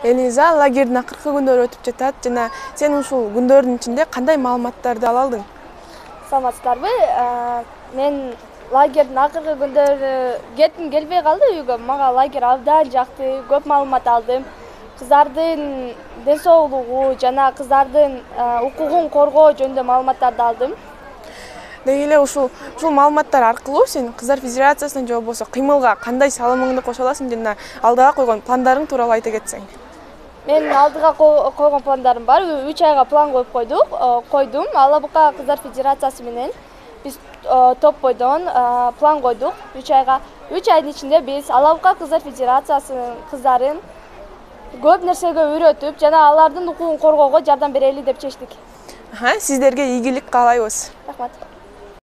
Элиза, лагердин акыркы күндөрү өтүп жатат жана сен ушул күндөрдүн ичинде кандай маалыматтарды ала алдың? Саламатсыздарбы? Мен лагердин акыркы күндөрү кетким келбей калды үйгө. Мага лагерь абдан жакты, көп маалымат алдым. Кыздардын ден соолугу жана кыздардын укугун коргоо жөнүндө маалыматтарды алдым. Деги эле ушул маалыматтар аркылуу сен Кыздар Федерациясына же болбосо кыймылга кандай салымыңды кошо аласың жана алдыга койгон пландарың тууралуу айта кетсең. Мен алдыга койгон пландарым бар. 3 айга план коюп койдум. Алабука Кыздар Федерациясы менен биз топ бойдон план койдук 3 айга. 3 айдын ичинде биз Алабука Кыздар Федерациясынын кыздарын көп нерсеге үйрөтүп жана алардын укугун коргоого жардам берели деп чечтик. Сиздерге ийгилик каалайбыз. Рахмат.